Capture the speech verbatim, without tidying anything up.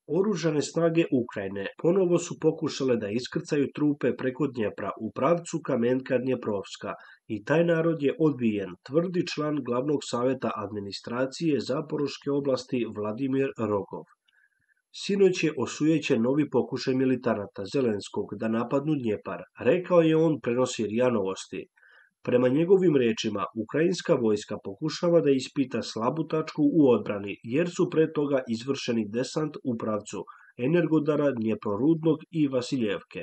Oružane snage Ukrajine ponovo su pokušale da iskrcaju trupe preko Dnjepra u pravcu Kamenka Dnjeprovska i taj narod je odbijen, tvrdi član glavnog saveta administracije Zaporoške oblasti Vladimir Rogov. Sinoć je osujećen novi pokušaj militanata Zelenskog da napadnu Dnjepar, rekao je on, prenosi R I A Novosti. Prema njegovim rečima, ukrajinska vojska pokušava da ispita slabu tačku u odbrani, jer su pre toga izvršeni desant u pravcu Energodara, Dnjeprorudnog i Vasiljevke.